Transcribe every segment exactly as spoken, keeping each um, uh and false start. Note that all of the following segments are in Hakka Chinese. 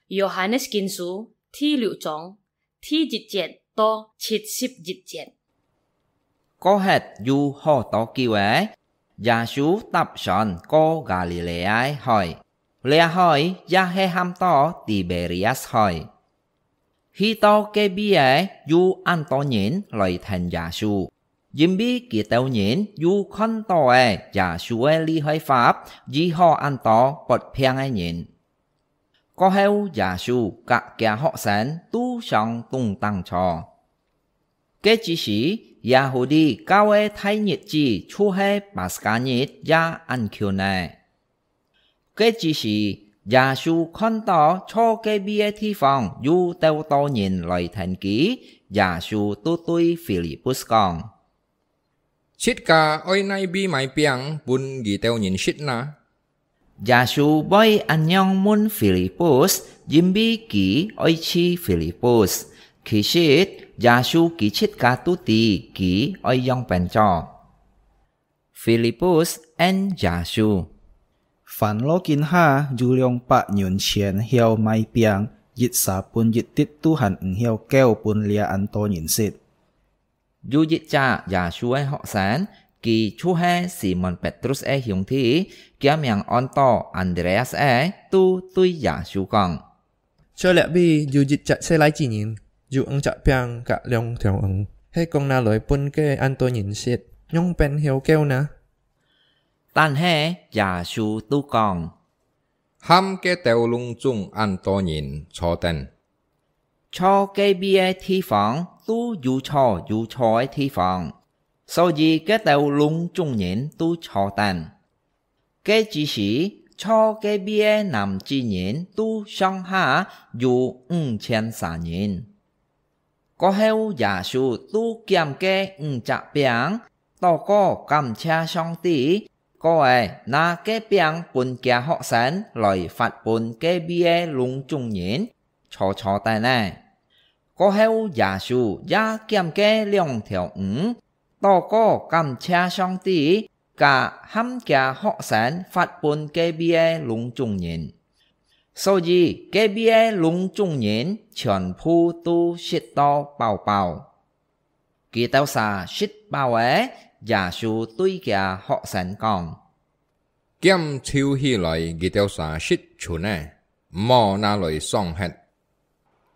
Yohanes Kinsu第六章第一節到七十一節。過忒有好多久仔，耶穌搭船過加利利亞海，這海也係喊到提比哩亞斯海。去到該位仔，有恁多人來跈耶穌，因為佢兜人有看到仔耶穌个厲害法，醫好恁多發病个人。 過後耶穌佮厥學生都上東頂坐。該之時，Yahudi教个大日子就係Paskah日也恁近咧。該之時，耶穌看到坐該位个地方有兜多人來跈佢，耶穌就對Filipus講： 自家愛哪位買餅分佢兜人食哪？耶穌會恁樣問Filipus，因為佢愛試Filipus。其實，耶穌佢自家都知佢愛樣般做。Filipus應耶穌：「還落今下有兩百銀錢曉買餅，一儕分一滴都還毋曉繳分這恁多人食。」 有一隻耶穌个學生，佢就係Simon Petrus个兄弟，厥名安到Andreas个，都對耶穌講：「在這位有一隻細倈子人，有五隻餅佮兩條魚，係講拿來分該恁多人食，仰般曉繳哪？」但係耶穌都講： 喊該兜攏總恁多人坐等。坐該位个地方都有坐有坐个地方，所以該兜攏總人都坐等。該之時，坐該位个男子人都上下有五千儕人。 過後耶穌就撿該五隻餅，禱告感謝上帝，過仔拿該餅分厥學生來發分該位个攏總人，坐坐等仔。過後耶穌也撿該兩條魚，禱告感謝上帝， 佮喊厥學生發分該位个攏總人。所以該位个攏總人全部都食到飽飽。佢兜儕食飽仔，耶穌對厥學生講：「撿就起來，佢兜儕食賰个，毋好拿來喪忒。」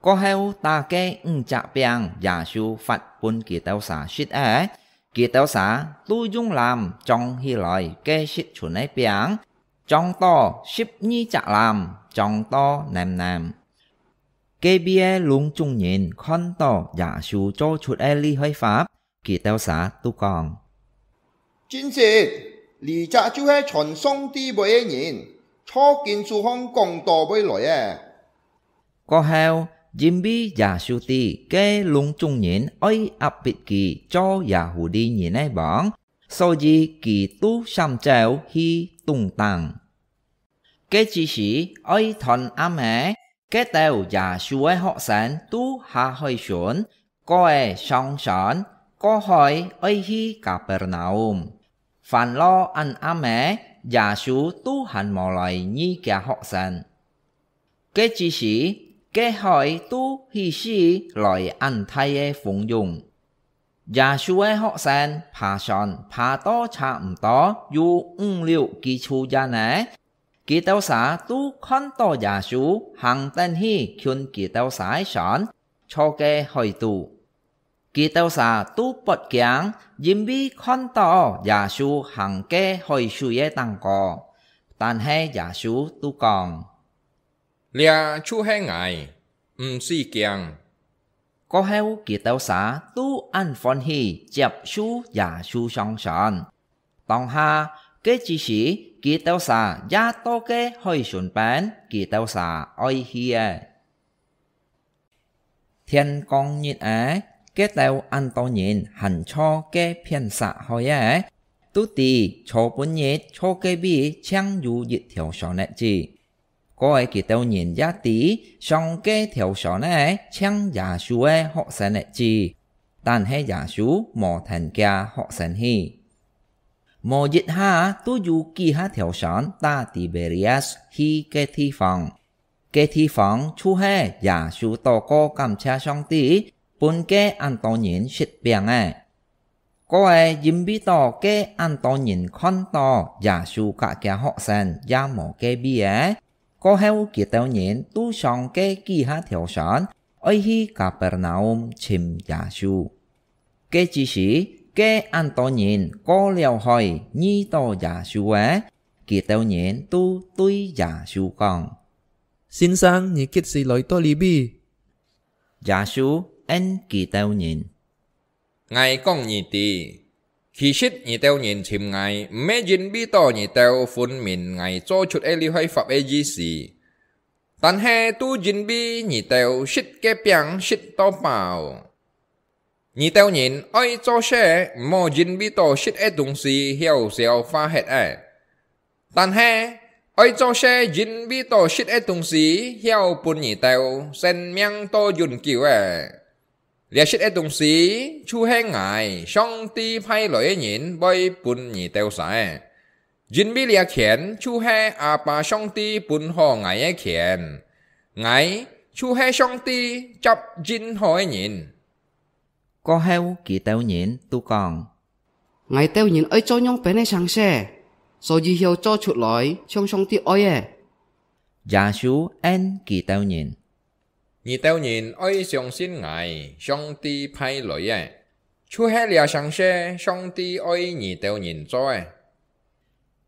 過後打該五隻餅，耶穌發分佢兜儕食仔，佢兜儕都用籃裝起來該食賰个餅，裝到十二隻籃，裝到淰淰。該位个攏總人看到耶穌做出个厲害法， 佢兜儕都講：「真實，這隻就係傳上帝話个人，坐經書項講到會來个。」過後，因為耶穌知該攏總人愛壓迫佢做Yahudi人个王，所以佢就閃走去東頂。 該之時，愛斷暗仔，該兜耶穌个學生都下海船，過仔上船，過海愛去Kapernaum。還落恁暗仔，耶穌都還無來遇厥學生。該之時，該海都起勢來恁大个風湧。 耶穌个學生爬船爬到差毋多有五六幾處遠仔，佢兜儕都看到耶穌行等去近佢兜儕个船，坐該海肚。佢兜儕都發驚，因為看到耶穌行該海水个頂高。但係耶穌都講： 「這就係𠊎，毋使驚。」過後，佢兜儕都恁歡喜接受耶穌上船。當下，該之時，佢兜儕也到該海脣邊，佢兜儕愛去了。 天光日仔，該兜恁多人還坐該片析海仔，都知昨晡日坐該位淨有一條船仔至。過仔佢兜人也知上該條船仔淨耶穌个學生仔至，但係耶穌無跈厥學生去。無一下，都有幾下條船打Tiberias去个地方。該地方就係耶穌禱告感謝上帝，分該恁多人食餅个。過仔因為到該恁多人看到耶穌佮厥學生也無該位仔，過後佢兜人都上該幾下條船，愛去Kapernaum尋耶穌。該之時，該恁多人過了海遇到耶穌仔，佢兜人都對耶穌講：「先生，你幾時來到這位？」耶穌應佢兜人：「𠊎講你知，其實你兜人尋𠊎，毋係因為到你兜分明𠊎做出个這塊法个意思，但係都因為你兜食該餅食到飽。你兜人愛做事，毋好因為到食个東西曉消化忒仔，但係愛做事，因為到食个東西曉分你兜生命到永久仔。這食个東西就係𠊎，上帝派來个人，會分你兜儕。因為這權就係阿爸上帝分好𠊎个權，𠊎就係上帝接任好个人。」過後佢兜人都講：「𠊎兜人愛做仰般个成事，所以曉做出來像上帝愛个？」耶穌應佢兜人：「你兜人愛相信𠊎，上帝派來个，就係這成事上帝愛你兜人做个。」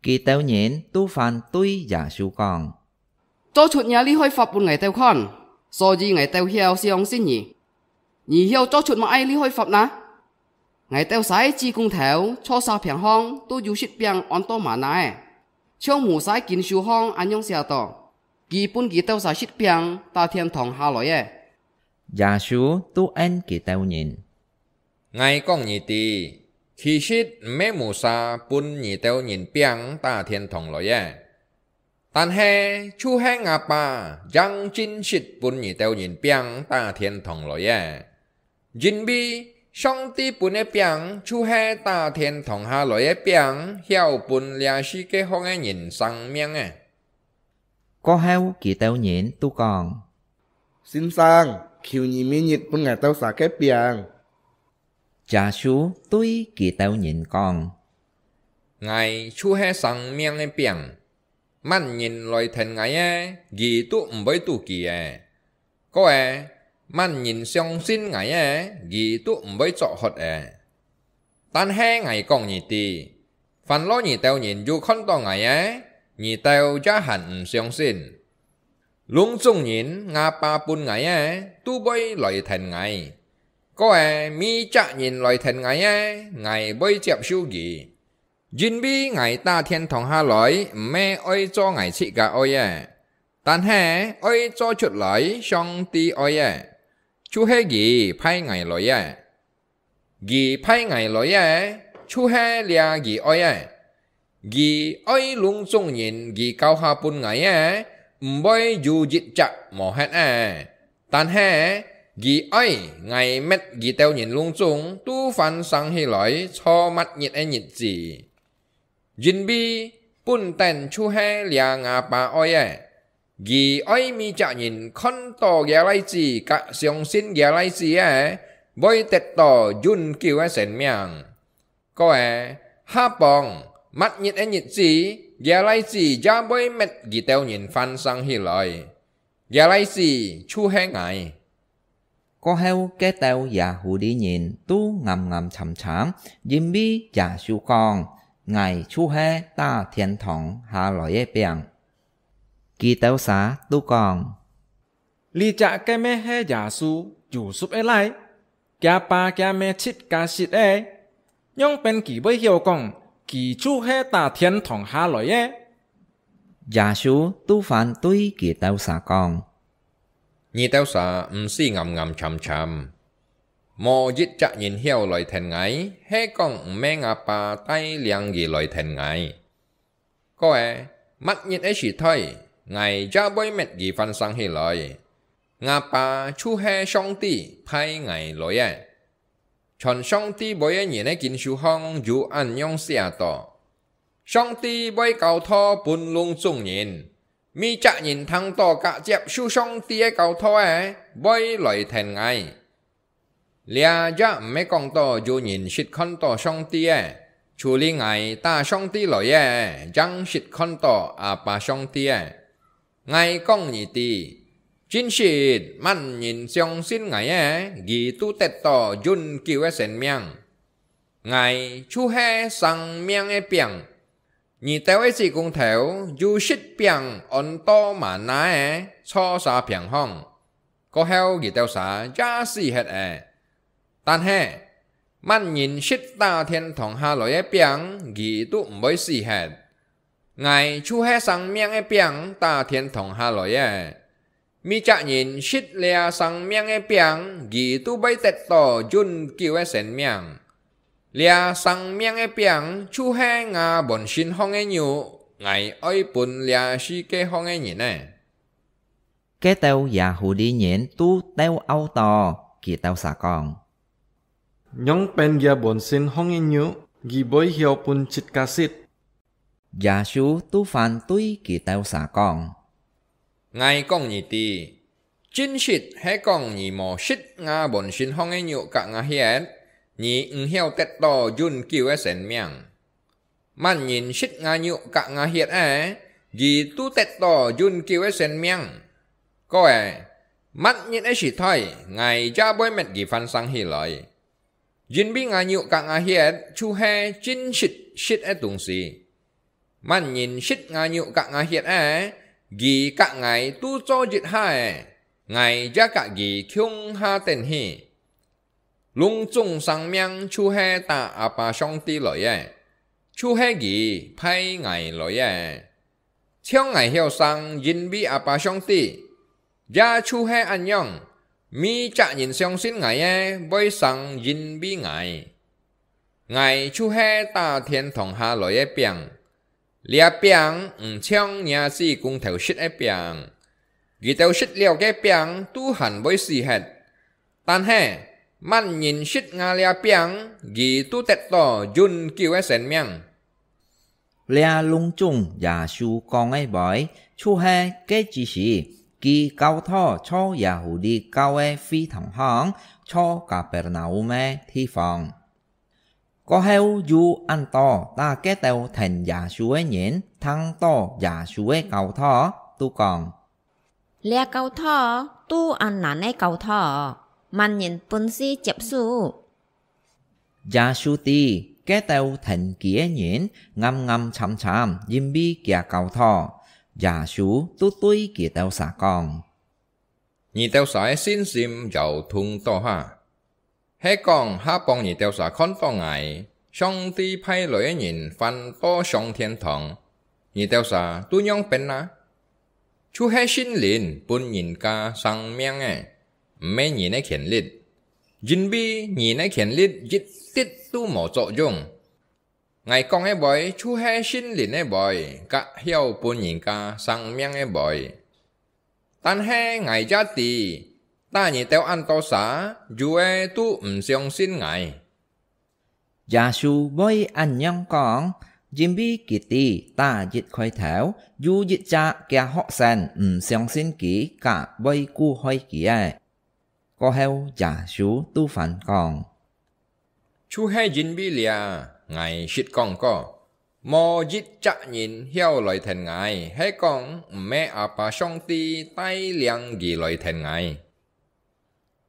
佢兜人都反對耶穌講：「做出若厲害法分𠊎兜看，所以𠊎兜曉相信你。你曉做出麼个厲害法哪？𠊎兜儕个子公頭坐沙坪項都有食餅安到嗎哪仔，像摩西經書項恁樣寫到：佢分佢兜儕食餅打天堂下來个。」耶穌都應佢兜人：「𠊎講你知，其實毋係摩西分你兜人餅打天堂來个，但係就係吾爸正真實分你兜人餅打天堂來个。因為上帝分个餅就係打天堂下來个餅，曉分這世界項个人生命个。」過後佢兜人都講：「先生，求你每日分𠊎兜儕个餅。」耶穌對佢兜人講：「𠊎就係生命个餅，麼人來跈𠊎个，佢都毋會肚飢个。過仔，麼人相信𠊎个，佢都毋會作渴个。但係𠊎講你知， 煩惱你兜人有看到𠊎仔，你兜也還毋相信。攏總人吾爸分𠊎仔，都會來跈𠊎。過仔，每隻人來跈𠊎仔，𠊎會接受佢。因為𠊎打天堂下來，毋係愛做𠊎自家愛个，但係愛做出來上帝愛个，就係佢派𠊎來个。 佢派𠊎來个，就係這佢愛个。佢愛攏總人佢交下分𠊎个，毋會有一隻無忒个。但係佢愛𠊎搣佢兜人攏總都翻生起來，坐末日个日子。因為本等就係這吾爸愛个， 佢愛每隻人看到厥倈子佮相信厥倈子个，會得到永久个生命。過仔，下幫，末日个日子，厥倈子也會搣佢兜人翻生起來。厥倈子就係𠊎。」 過後，該兜耶戶利人都暗暗慘慘，因為耶穌講：「𠊎就係打天堂下來个餅。」佢兜儕都講：「這隻該乜係耶穌，Yusuf个倈？厥爸厥姆自家識个，仰般佢會曉講，佢就係打天堂下來个？」耶穌都反對佢兜儕講： 「你兜儕毋使暗暗慘慘。無一隻人曉來跈𠊎，係講毋係吾爸帶領佢來跈𠊎。過仔，末日个時代，𠊎也會搣佢翻生起來。吾爸就係上帝派𠊎來个。全上帝會个人个經書項有恁樣寫到：上帝會交託分攏總人，每隻人聽到佮接受上帝个教導个，會來跈𠊎。這也毋係講到有人識看到上帝个，除了𠊎搭上帝來个，正識看到阿爸上帝个。𠊎講你知，真實，麼人相信𠊎个，佢都得到永久个生命。𠊎就係生命个餅。你兜个子公頭有食餅安到嗎哪个，坐儕平項，過後佢兜儕也死忒了。但係，麼人食打天堂下來个餅，佢都毋會死忒。𠊎就係生命个餅打天堂下來个。每隻人食這生命个餅，佢都會得到永久个生命。這生命个餅就係吾本身項个肉，𠊎愛分這世界項个人呢。該兜Yahudi人都鬥漚到，佢兜儕講：「仰般這本身項个肉，佢會曉分自家食？」耶穌都反對佢兜儕講：「𠊎講你知，真實係講你無食吾本身項个肉佮吾血，你毋曉得到永久个生命。麼人食吾肉佮吾血个，佢都得到永久个生命。過了，末日个時代，𠊎也會搣佢翻生起來。」因為吾肉佮吾血就係真實食个東西。麼人食吾肉佮吾血个，佢佮𠊎都做一下个，𠊎也佮佢共下等去。攏總生命就係搭阿爸上帝來个，就係佢派𠊎來个。 像𠊎曉生因為阿爸上帝，也就係恁樣，每隻人相信𠊎个會生因為𠊎。𠊎就係打天堂下來个餅，這餅毋像若子工頭食个餅，佢兜食了該餅都還會死忒。但係，麼人食吾這餅，佢都得到永久个生命。 這攏總耶穌講个話，就係該之時，佢教導在Yahudi教个會堂項，在Kapernaum个地方。過後有恁多搭該兜跈耶穌个人聽到耶穌个教導，都講： 這教導都恁難个教導，麼人本事接受？耶穌知該兜跈佢个人暗暗慘慘，因為厥教導，耶穌都對佢兜儕講：「你兜儕个信心搖動到哈？ 係講下幫你兜儕看到𠊎，上帝派來个人翻到上天堂，你兜儕都仰般啊？就係聖靈分人家生命个，毋係人个權力，因為人个權力一滴都無作用。 𠊎講个話就係聖靈个話，佮曉分人家生命个話。但係𠊎也知，搭你兜恁多儕，有个都毋相信𠊎。」耶穌會恁樣講，因為佢知打一開頭，有一隻厥學生毋相信佢，佮會苦害佢个。 過後耶穌都還講：「就係因為這，𠊎實講過，無一隻人曉來跈𠊎，係講毋係阿爸上帝帶領佢來跈𠊎。」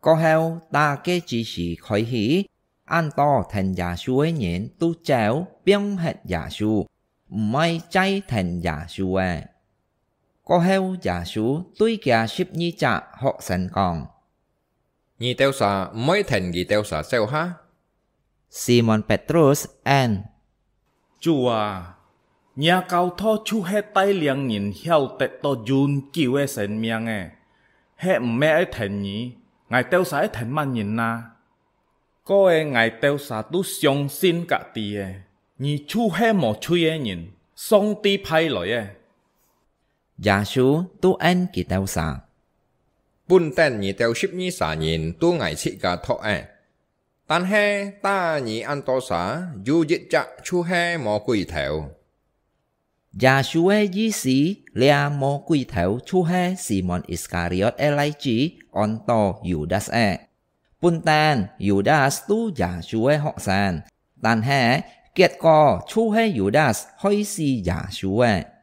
過後，打該之時開始，恁多跈耶穌个人都走，放忒耶穌，毋愛再跈耶穌了。 過後，耶穌對厥十二隻學生講：「你兜儕毋會跈佢兜儕走哈？」Simon Petrus應：「主啊，若教導就係帶領人曉得到永久个生命个，係毋係愛跈你，𠊎兜儕愛跈麼人啊？」 過了𠊎兜儕都相信佮知了，你就係無罪个人，上帝派來个。耶穌都應佢兜儕：「本等你兜十二儕人都𠊎自家擇个，但係打你恁多儕，有一隻就係魔鬼頭。」Yâ-sû个意思，這魔鬼頭就係Simon Iskariot个倈子，安到Yudas个。本旦Yudas都耶穌个學生，但係結果就係Yudas害死耶穌个。